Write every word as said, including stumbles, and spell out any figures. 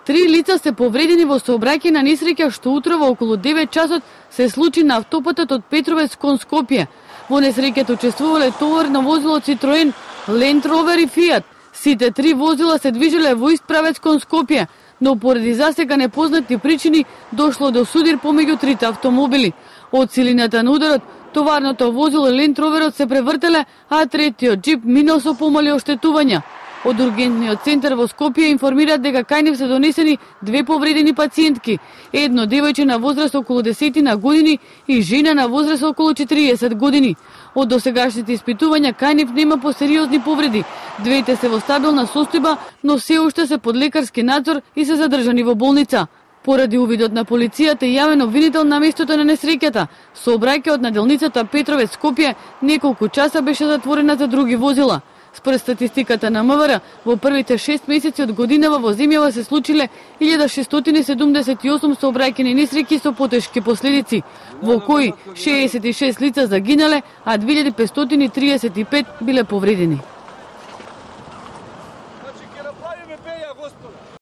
Три лица се повредени во сообраќајна несреќа што утрово околу девет часот се случи на автопатот од Петровец кон Скопје. Во несреќата учествувале товарно возило Citroen, Land Rover и Fiat. Сите три возила се движеле во ист правец кон Скопје, но поради засега непознати причини дошло до судир помеѓу трите автомобили. Од силината на ударот, товарното возило и Land Roverот се превртеле, а третиот джип минал со помали оштетувања. Од ургентниот центар во Скопје информираат дека кај нив се донесени две повредени пациентки, едно девојче на возраст околу десетина години и жена на возраст околу четириесет години. Од досегашните испитувања кај нив нема посериозни повреди. Двете се во стабилна состојба, но се уште се под лекарски надзор и се задржани во болница. Поради увидот на полицијата и јавен обвинител на местото на несреќата, сообраќајот на делницата Петровец Скопје неколку часа беше затворена за други возила. Според статистиката на МВР, во првите шест месеци од годинава во земјава се случиле илјада шестстотини седумдесет и осум сообраќајни несреќи со потешки последици, во кои шеесет и шест лица загинале, а две илјади петстотини триесет и пет биле повредени.